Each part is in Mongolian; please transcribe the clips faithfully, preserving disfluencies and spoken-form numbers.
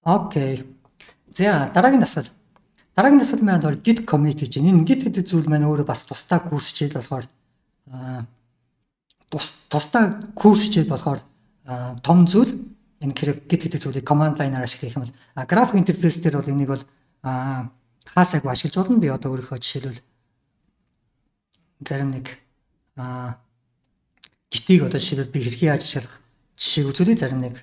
Окей. За дараагийн дасгал. Дараагийн дасгал маань бол git commit гэж байна. Энэ git гэдэг зүйл маань өөрөө бас тусдаа курс хичээл болохоор тус тусдаа курс хичээл болохоор том зүйл. Энэ хэрэг git гэдэг зүйлийг command line-аар ашиглах юм бол график интерфейс дээр бол энийг бол хаасайг ашиглаж болно. Би одоо өөрийнхөө жишээлбэл зарим нэг git-ийг одоо жишээлбэл би хэрхэн яаж ашиглах жишээг үзүүлээ. Зарим нэг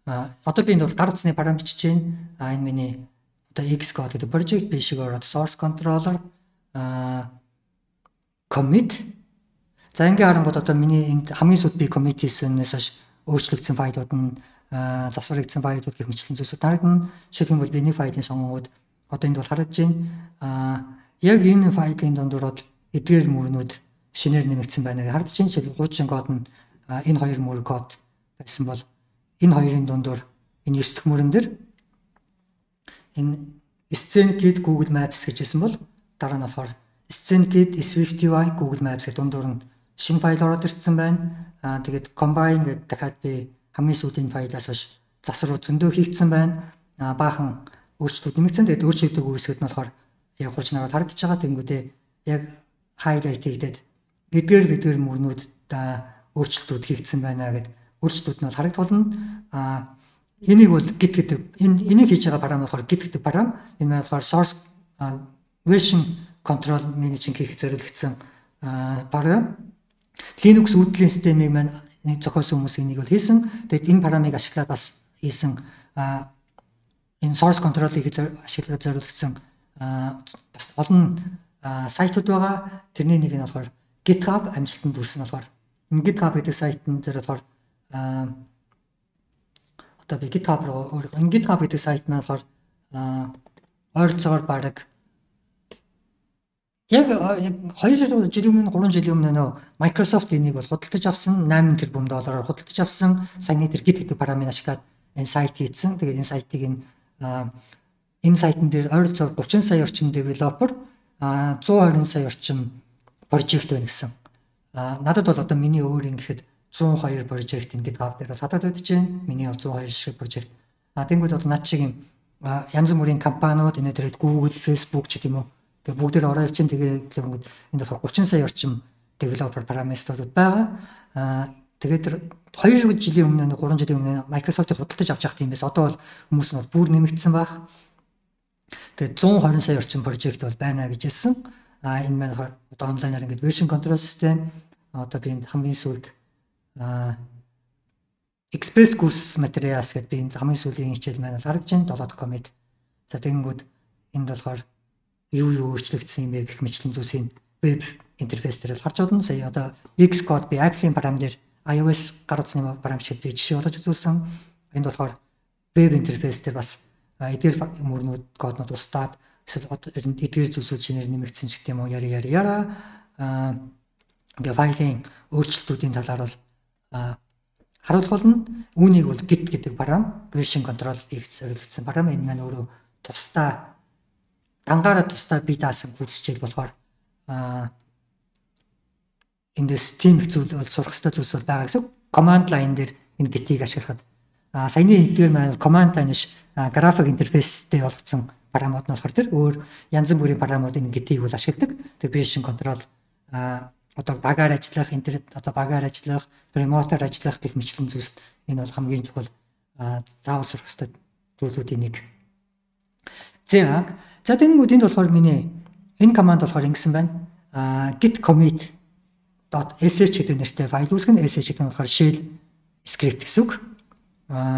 одоо би энэ бол гар утасны параметр бичиж байна. А энэ миний одоо Xcode гэдэг project би шигээр одоо source controller commit. За ингээ харангууд одоо миний энд хамгийн сүүлд би commit хийснээс хойш өөрчлөгдсөн файлууд нь засварлагдсан файлууд гэх мэтлэн зүйлсүүд харагдана. Жишээлбэл бол би нэг файлын сонгонгууд одоо энд бол харагдаж байна. Яг энэ файлын дундуур бол эдгээр мөрнүүд шинээр нэмэгдсэн байна гэж харагдаж байна. Жишээлбэл хуучин код нь энэ хоёр мөр код байсан бол энэ хоёрын дундуур энэ ёс дэх мөрөн дээр энэ SceneGrid Google Maps гэж хэлсэн бол дараа нь болохоор SceneGrid SwiftUI Google Maps гэх дундуур нь шинэ файл ороод ирсэн байна. Аа тэгээд combine гэдэг дахиад би хамгийн сүүлийн файлаас хойш засвар зөндөө хийгдсэн байна. Аа баахан өөрчлөлт нэмэгдсэн. Тэгээд өөрчлөлтөд үүсгэхэд нь болохоор яг хуучнараа харагдаж байгаа. Тэнгүүдээ яг highlight хийгдээд эдгээр эдгээр мөрнүүд өөрчлөлтүүд хийгдсэн байна гэдэг өөрчлөлтүүд нь харагдах болно. Аа энийг бол git гэдэг энэ энийг хийж байгаа параметр болохоор git гэдэг параметр. Энэ маань болохоор source version control managing хийх зориулагдсан параметр. Linux үүдлийн системийг маань нэг зохиосон хүмүүс энийг бол хийсэн. Тэгээд энэ параметрыг ашиглаад бас хийсэн энэ source control-ыг ашиглаад зориулагдсан бас олон сайтууд байгаа. Тэрний нэг нь болохоор GitHub амжилтанд хүрсэн болохоор энэ GitHub гэдэг сайтн дээр болохоор одоо би GitHub руу энэ GitHub гэдэг сайт маань болохоор ойролцоогоор баг яг хоёр жилийн өмнө гурван жилийн өмнө нөө Microsoft энийг бол худалдаж авсан восемь тэрбум доллараар худалдаж авсан. Саяны тэр Git гэдэг параметрыг ашиглаад энэ сайт хийсэн. Тэгээд энэ сайтыг энэ энэ сайтн дээр ойролцоогоор гучин сая орчим девелопер зуун хорин сая орчим прожект байна гэсэн. Надад бол одоо миний өөр ингэхэд зуун хоёр прожект энэ GitHub дээр бол хадаад байдаг чинь. Миний зуун хоёр шиг прожект. А тэнгууд бол над шиг юм янз бүрийн компаниуд энэ дээр Google, Facebook ч гэдэм үү. Тэгээ бүгдээр ороо явчин тэгээ тэнгууд энэ болохоор гучин сая орчим developer parameterууд байгаа. А тэгээд хоёр жилийн өмнө гурван жилийн өмнө Microsoft-ыг худалдаж авч явах юм байсан. Одоо бол хүмүүс нь бүр нэмэгдсэн баг. Тэгээд зуун хорин сая орчим прожект бол байна гэж хэлсэн. А энэ маань одоо онлайнаар ингээд version control system одоо би энэ хамгийн сүүлд а Express course materials гэдэг би энэ хамгийн сүүлийн хичээл маань харагдаж байна. долоо commit. За тэгэнгүүт энд болохоор юу юу өөрчлөгдсөн юм бэ гэх мэтлэн зүйлсийн веб интерфейс дээр харж болно. Сая одоо Xcode би Apple-ийн параметр iOS гар утасны параметр би жишээ болгож үзүүлсэн. Энд болохоор веб интерфейс дээр бас эдгээр мөрнүүд коднууд устдаад эсвэл эдгээр зүйлсүүд шинээр нэмэгдсэн ч гэдэм үү яри яри яра а тэгээ файлын өөрчлөлтүүдийн талаар бол харуулах болно. Үүнийг бол git гэдэг параметр version control их зориулагдсан параметр. Энэ маань өөрөө тусдаа дангаараа тусдаа би даасан курс хичээл болохоор а эндээс тийм их зүйл бол сурах хэрэгтэй зүйлс бол байгаа гэсэн. Command line дээр энэ git-ийг ашиглахад а саяны эдгээр маань command line биш график интерфейстэй болгоцсон параметр нь болохоор тэр өөр янз бүрийн параметрууд энэ git-ийг бол ашигладаг. Тэгээ version control а одоо багаар ажиллах, интернет одоо багаар ажиллах, ремотоор ажиллах гэх мэтлэн зүйлс энэ бол хамгийн чухал заавал сурах хэрэгтэй зүйлүүдийн нэг. За за тэгэнгүүт энд болохоор миний энэ команд болохоор ингэсэн байна. git commit .sh гэдэг нэртэй файл үүсгэн. sh гэдэг нь болохоор shell script гэсэн үг.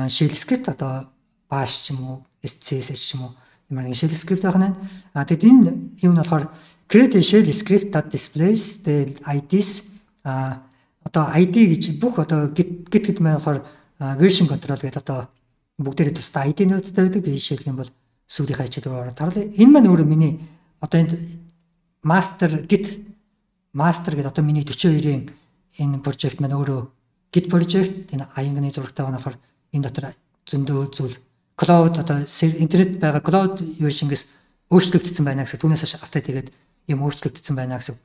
Shell script одоо bash ч юм уу, css ч юм уу юм аа shell script байх нь. А тэгэд энэ юу нь болохоор create a shell script that displays the I Ds а одоо I D гэж бүх одоо git git гэдэг маань болохоор version control гэдэг одоо бүгдээрээ тусдаа I D-нуудтай байдаг. Би жишээлх юм бол сүүлийн хажууд ороод тарлаа. Энэ маань өөрөө миний одоо энд master git master гэдэг одоо миний forty-two энэ project маань өөрөө git project энэ аянганы зурагтай байна болохоор энэ дотор зөндөө зүйл cloud одоо интернет байгаа cloud version-гээс өөрчлөгдсөн байна гэсэн. Түүнээс хойш апдейт хийгээд юм өөрчлөгдсөн байна гэсэн.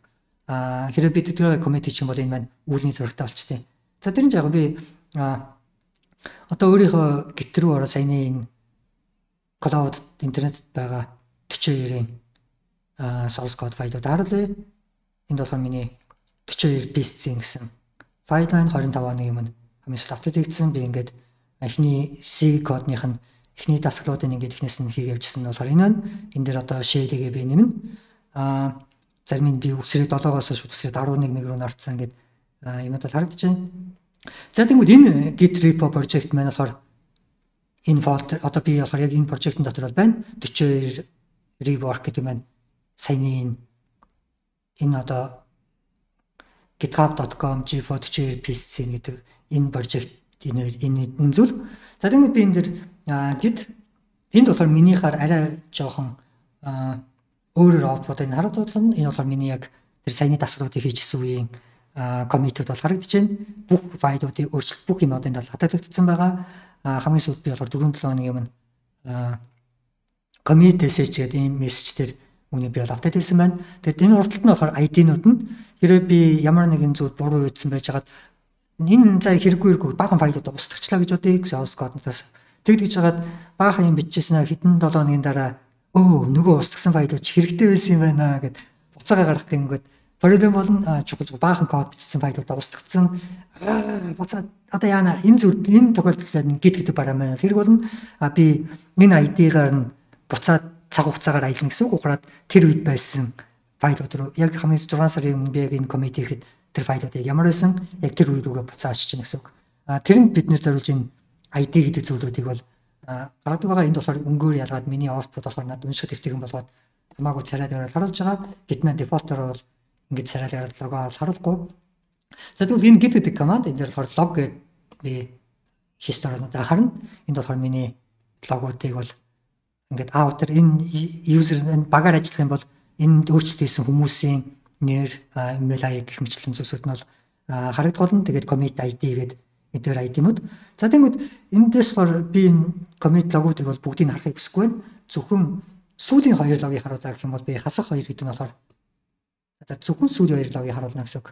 Аа хэрэв бид тэр commit хийх юм бол энэ маань үүлний зурагтай болчтой. За тэрэн жаага би одоо өөрийнхөө git рүү ороо саяны энэ cloud интернетэд байгаа forty-two two-ийн source code файлууд харуулъя. Энд болохоор миний forty-two piece гэсэн файл байна. twenty-five оны өмнө хамгийн сүүлд апдейт хийгдсэн. Би ингээд эхний C кодных нь эхний дасгалуудыг ингээд эхнээс нь хийгээ явьжсэн нь болохоор энэ байна. Энэ дээр одоо shell-ийг би нэмнэ. Аа зарим нь би үсрээд seven-оос шууд үсрээд eleven мег руу нарцсан ингээд юмуд харагдаж байна. За тэгвэл энэ Git repo project маань болохоор энэ folder одоо би болохоор яг энэ project-ын дотор бол байна. forty-two rework гэдэг маань саяны энэ одоо github dot com g forty-two piece гэдэг энэ project энэ энэ энэ зүйл. За тэгвэл би энэ дэр git энд болохоор минийхаар арай жоохон өөрөөр output-ыг харуулдаг. Энэ болохоор миний яг тэр саяны дасгалуудыг хийжсэн үеийн commit-үүд бол харагдаж байна. Бүх файлуудыг өөрчлөлт бүх юмудын талаар хатагдсан байгаа. Хамгийн сүүлд би болохоор four seven хоногийн өмнө commit message гэдэг ийм мессеж дээр үүнийг би бол апдейт хийсэн байна. Тэгээд энэ урталт нь болохоор ай ди-нууд нь хэрэг би ямар нэгэн зүйл буруу үйдсэн байж хагаад энэ заа хэрэггүй хэрэггүй баахан файлуудаа устгачлаа гэж бодъё. Source code-наас тэгдэж хагаад баахан юм бичижсэн хэдэн seven хоногийн дараа өө нөгөө устгасан файлууд ч хэрэгтэй байсан юм байна гэд буцаага гаргах гингүүд проблем болно. Чухал баахан код бичсэн файлуудаа устгацсан. Буцаад одоо яана энэ зүйл энэ тохиолдолд Git гэдэг параметр хэрэг болно. Би энэ ай ди-гаар нь буцаад цаг хугацаагаар аялна гэсэн үг. Ухраад тэр үед байсан файлууд руу яг хамгийн six сарын өмнө би яг энэ commit хийхэд тэр файлуудыг ямар байсан яг тэр үе рүүгээ буцаа очиж гэнэ гэсэн үг. Тэрэнд бид нэр зориулж энэ ай ди гэдэг зүйлүүдийг бол гаргадаг байгаа. Энд болохоор өнгөөр ялгаад миний output болохоор надад уншихад хэвтгэн болгоод хамаагүй царайд гараад харуулж байгаа. Git маань default-оор бол ингэж царайд гараад лого харуулахгүй. За тэгвэл энэ git гэдэг command энэ дээр болохоор log гэдэг би history-нуудаа харна. Энд болохоор миний логуудыг бол ингээд outer энэ user энэ багаар ажиллах юм бол энд өөрчлөлт хийсэн хүмүүсийн нэр, email ай ди гэх мэтлэн зүйлсүүд нь бол харагдах болно. Тэгээд commit ай ди гэдэг эдгээр ай ди-нууд. За тэгвэл эндээс болохоор би энэ commit logуудыг бол бүгдийг харахыг хүсэхгүй байна. Зөвхөн сүүлийн хоёр логийг харуулаа гэх юм бол би хасах хоёр гэдэг нь болохоор одоо зөвхөн сүүлийн хоёр логийг харуулна гэсэн үг.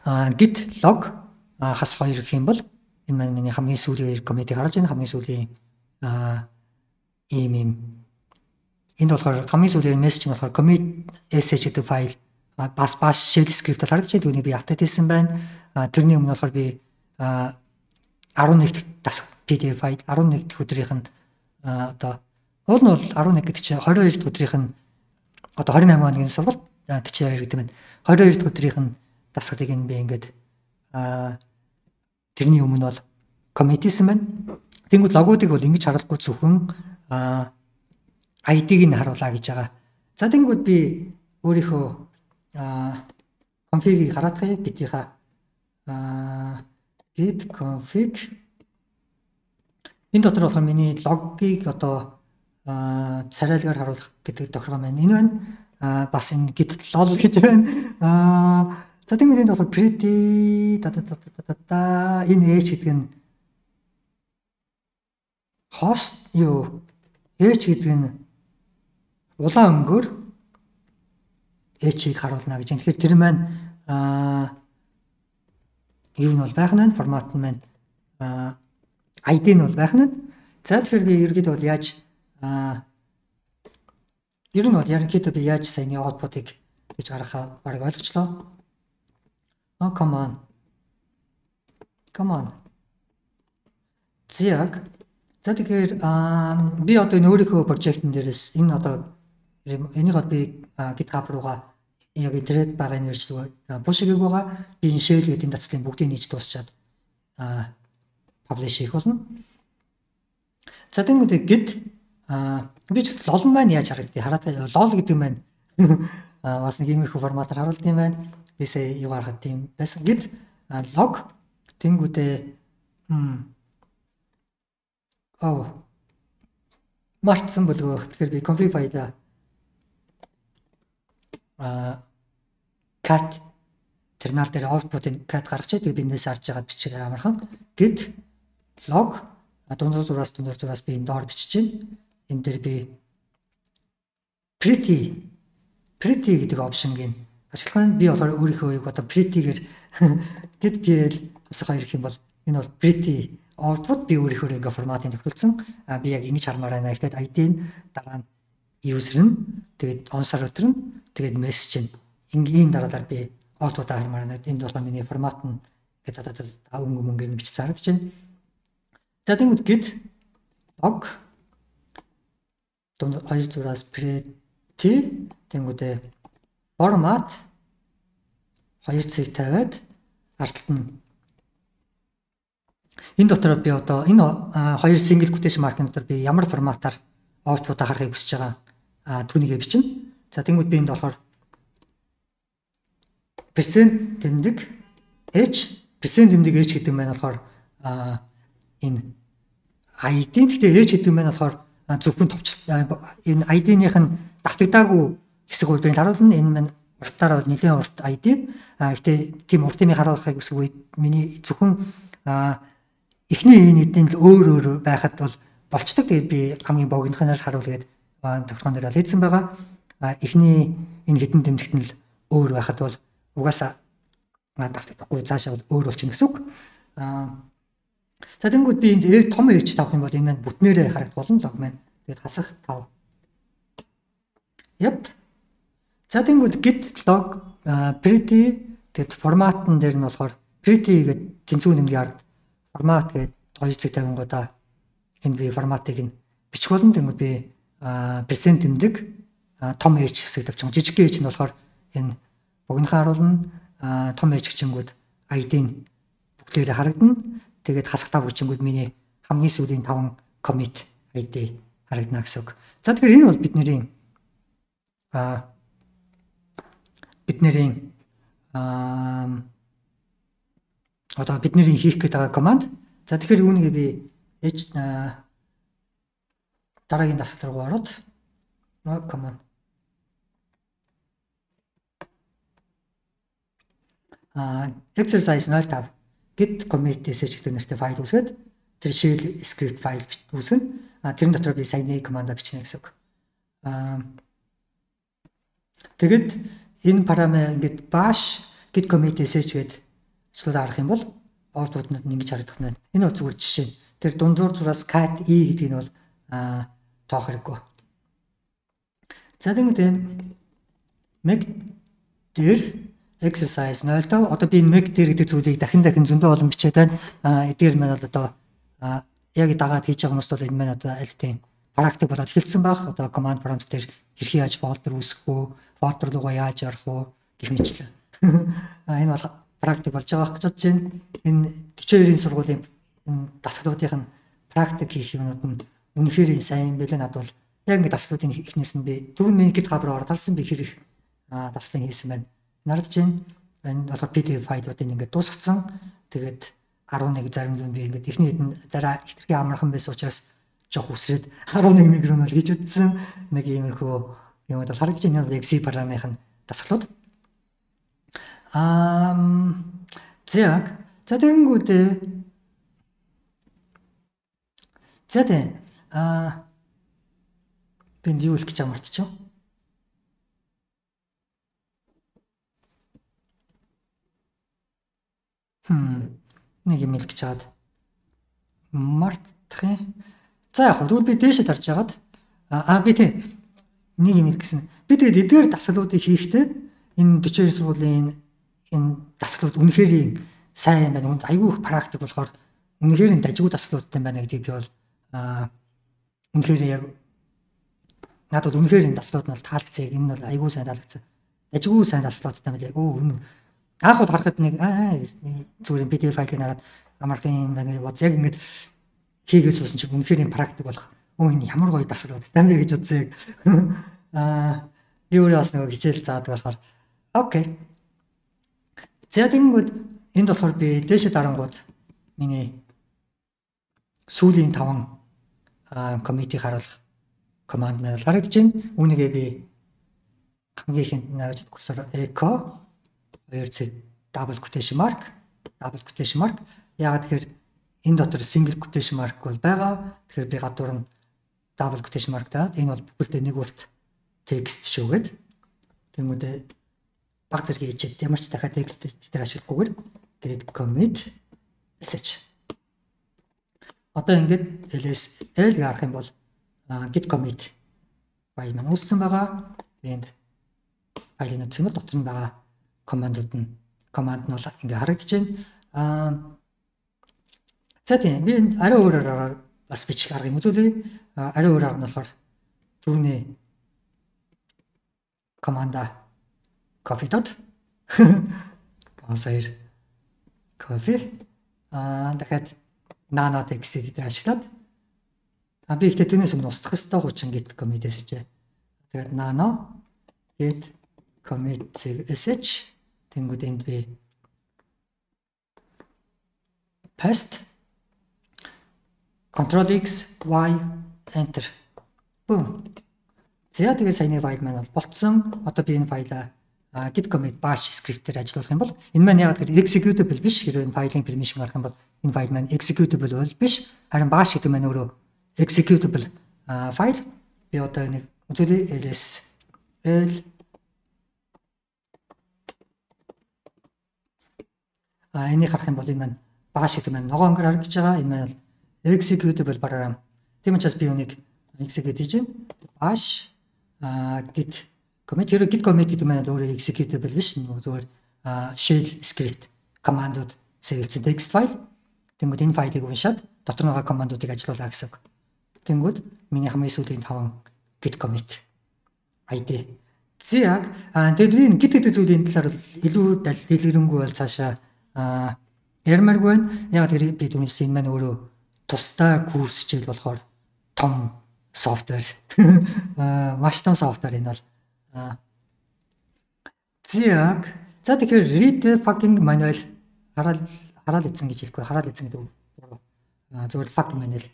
А git log хасах хоёр гэх юм бол энэ маань миний хамгийн сүүлийн хоёр commit-ийг харуулж байна. Хамгийн сүүлийн а ийм ийм энд болохоор хамгийн сүүлийн мессеж нь болохоор commit sh гэдэг файл бас бас shell script-ээр харагдаж байна. Түүнийг би апдейт хийсэн байна. Тэрний өмнө болохоор би eleven дахь дасгал пи ди эф файл eleven дахь өдрийнх нь одоо уул нь бол eleven гэдэг чинь twenty-two дахь өдрийнх нь одоо twenty-eight хоногийн сургалт forty-two гэдэг нь twenty-two дахь өдрийнх нь дасгалыг нь би ингээд тэрний өмнө бол commit хийсэн байна. Тэнгүүд логуудыг бол ингэж харуулахгүй зөвхөн ай ди-г нь харуулаа гэж байгаа. За тэнгүүд би өөрийнхөө config-ийг хараадах юм гитийнхаа git config энэ дотор болохоор миний логгийг одоо царайлгаар харуулах гэдэг тохиргоо маань энэ байна. Бас энэ git lol гэж байна. За тэнгүүд энэ болохоор pretty та та та та энэ h гэдэг нь host юу h гэдэг нь улаан өнгөөр h-ийг харуулна гэж. Тэгэхээр тэр маань юу нь бол байх нь формат нь маань ай ди нь бол байх нь. За тэгэхээр би ерөөдөө бол яаж ер нь бол ерөнхийдөө би яаж саяны output-ыг гэж гаргахаа бараг ойлгочлоо. А come on. Come on. Зяг. За тэгэхээр би одоо энэ өөрийнхөө project-ын дээрээс энэ одоо энийг би GitHub руугаа яг интернет байгаа нэрчлэг push хийгээг байгаа. Би энэ shell гэдэг дацлын бүгдийг нийж дуусчаад publish хийх болно. За тэгвэл git би ч lol маань яаж харагдгийг хараад lol гэдэг маань бас нэг иймэрхүү форматаар харуулдаг юм байна. Би сая юу харахад тийм байсан. Git log тэнгүүдээ оо мартсан болов. Тэгэхээр би config file а cat терминал дээр output-ын cat гаргачаад би энэс харж байгаад бичих амархан git log дундуур зураас дундуур зураас би энэ доор бичиж байна. Энэ дээр би pretty pretty гэдэг опшныг ашиглах нь би болохоор өөрийнхөө юг одоо pretty-гээр git pl хасах хоёр гэх юм бол энэ бол pretty output би өөрийнхөө ингээ форматын тохиолдсон. А би яг ингэж хармаар байна. Гэхдээ ай ди нь дараа нь user нь тэгээд on server нь тэгээд message нь ийм дараалал би output-аа хармаар байна. Энд бол миний формат нь гэдэг одоо өнгө мөнгө ингэж зарагдаж байна. За тэгвэл git log дунд хоёр зураас pretty тэнгүүдээ format хоёр цэг тавиад арталт нь энэ дотор би одоо энэ хоёр single quotation mark-ын дотор би ямар форматаар output-аа харахыг хүсэж байгаа түүнийгээ бичнэ. За тэнгүүд би энд болохоор percent тэмдэг h percent тэмдэг h гэдэг нь болохоор энэ ай ди. Гэхдээ h гэдэг нь болохоор зөвхөн товч энэ ай ди-ийнх нь давтагдаагүй хэсэг бол би харуулна. Энэ маань уртаар бол нэлээд урт ай ди. Гэхдээ тийм урт юмыг харуулахыг хүсэх үед миний зөвхөн эхний энэ эдийн л өөр өөр байхад бол болцдог. Тэгээд би хамгийн богинохноор харуулгээд тохиргоон дээр хийсэн байгаа. Эхний энэ хэдэн тэмдэгт нь л өөр байхад бол угаасаа давтагдахгүй цаашаа бол өөр болчихно гэсэн үг. За тэнгууд би энд том h тавих юм бол энэ маань бүтнээрээ харагдах болно. Log маань тэгээд хасах тав. Yep. За тэнгууд git log pretty тэгээд форматн дээр нь болохоор pretty гэдэг тэнцвэр нэмгийн ард формат гэдэг хоёр цэг тавингуудаа энэ би форматыг нь бичих болно. Тэнгууд би percent тэмдэг том h хэсэг тавьчих. Жижиг h нь болохоор энэ богинохоо харуулна. Том h гिचэнгүүд ай ди нь бүгдээрээ харагдана. Тэгээд хасах тав гिचэнгүүд миний хамгийн сүүлийн таван commit ай ди харагдана гэсэн үг. За тэгэхээр энэ бол бидний а бидний а одоо бидний хийх гээд байгаа команд. За тэгэхээр үүнийг би h дараагийн дасгал руу ороод команд а exercise null tab git commit message гэдэг нэртэй файл үүсгээд тэр shell script файл үүсгэн. А тэрэн дотор би саяны команда бичнэ гэсэн үг. А тэгэд энэ параметр ингээд bash git commit message гэдэг цэцлүүд харах юм бол output-д нь ингэж харагдах нь байна. Энэ бол зүгээр жишээ. Тэр дундуур зураас cat e гэдэг нь бол а тоох хэрэггүй. За тэгвэл make дээр exercise null тав одоо би make дээр гэдэг зүйлийг дахин дахин зөндөө олон бичээд байна. А эдгээр маань бол одоо яг дагаад хийж байгаа хүмүүс бол энэ маань одоо аль тийм практик болоод эхэлсэн байх. Одоо command prompt дээр хэрхэн яаж folder үүсгэх үү, folder руугаа яаж орох уу гэх мэтлээ. А энэ бол практик болж байгаа гэж бодож байна. Энэ forty-two төрийн сургуулийн дасгалуудын практик хийх юмнууд нь үнэхээр сайн байлаа. Над бол яг ингэ дасгалуудын ихнээс нь би түрүүн миний гид хабар ороод харсан би хэрэг даслан хийсэн байна. Нардж байна. Энэ болохоор пи ди эф файлуудыг ингээд дуусгацсан. Тэгээд eleven зарим нь би ингээд эхний хэдэн зараа ихтгэн амархан байсан учраас жоох үсрээд eleven микрон бол хийж үтсэн. Нэг иймэрхүү юм бол харагдаж байна. Яг C параметрын дасгалууд. Аа зэг за тэгэнгүүтээ за тэ а би юу хэлэх гэж байгаа мартчихв. Хм нэг юм хэлэх гэж чад мартах юм. За яг хөө би дээшээ тарж хагаад аа би тэ нэг юм хэлсэн. Би тэгээд эдгээр дасгалуудыг хийхдээ энэ forty-two сургуулийн энэ дасгалууд үнэхээр сайн байна. Үнд айгүй их практик болохоор үнэхээр дажгүй дасгалуудтай байна гэдгийг би бол аа үнэхээр яг надад үнэхээр энэ дасгалууд нь бол таалагдсан. Энэ бол айгүй сайн таалагдсан. Дажгүй сайн дасгалуудтай байна. Өө үнэ анх бол харахад нэг аа зүгээр пи ди эф файлыг хараад амархан байна гэж яг ингэж хийгээс uuсан чи үнэхээр энэ практик болох. Өө энэ ямар гоё дасгалуудтай байна гэж бодсон. Аа би өөрөө бас нэг хичээл заадаг болохоор окей. За тэгэнгүүт энд болохоор би дээшээ дарангууд миний сүүлийн таван коммитийг харуулах команд маань харагдаж байна. Үүнийгээ би хамгийн ихэнд навж курсор echo хоёр цэг double quotation mark double quotation mark яагаад тэгэхээр энэ дотор single quotation mark бол байгаа. Тэгэхээр би гадуур нь double quotation mark таад энэ бол бүгдээ нэг урт текст шүүгээд тэгмүүдээ баг зэрэг хийчихэд ямар ч дахиад текст дээр ашиглахгүйгээр тэгээд commit message. одоо ингээд ls l гэж харах юм бол git commit файл маань үүссэн байгаа. Энд файлын нөхцөл нь дотор нь байгаа командууд нь команд нь бол ингээд харагдаж байна. Аа за тийм би энэ арай өөр аргаар бас бичих аргыг үзүүлье. Арай өөр арга нь болохоор түүний команда copy dot босоор copy аа дахиад nano text editor ашиглаад а би ихтэй тэрнээс өмнө устгах ёстой хучин git commit sh. Тэгээд nano git commit sh тэнгууд энд би paste control x y enter boom. За тэгээд саяны файл маань бол болцсон. Одоо би энэ файлаа git commit bash script-ээр ажиллуулах юм бол энэ маань яг тэр executable биш. Хэрвээ энэ файлын permission гарах юм бол энэ файл маань executable бол биш. Харин bash гэдэг маань өөрөө executable файл. Би одоо нэг үзүүлээ ls l а энийг харах юм бол энэ маань bash гэдэг маань ногоон өнгөөр харагдаж байгаа. Энэ маань executable програм. Тийм учраас би үнийг execute хийж байна. Bash git commit хэрэг git commit гэдэг маань өөрөө executable биш. Зүгээр shell script командууд сэргэлцсэн text файл. Тэнгүүд энэ файлыг уншаад дотор нь байгаа командуудыг ажиллуулаа гэсэн үг. Тэнгүүд миний хамгийн сүүлийн таван git commit ай ди. Зэг тэгэд би git гэдэг зүйлийн талаар илүү дэлгэрэнгүй бол цаашаа ярмааргүй байна. Яг тэр би түрүүнээс энэ маань өөрөө тусдаа курс хичээл болохоор том софтвер маш том софтвер энэ бол зэг за тэгэхээр read fucking manual хараад хараад ийцэн гэж хэлэхгүй хараад ийцэн гэдэг зүгээр fucking manual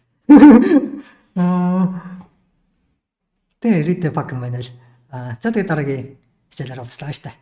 тэгээ read fucking manual за тэгээ дараагийн хичээлээр уулзлаа штэ.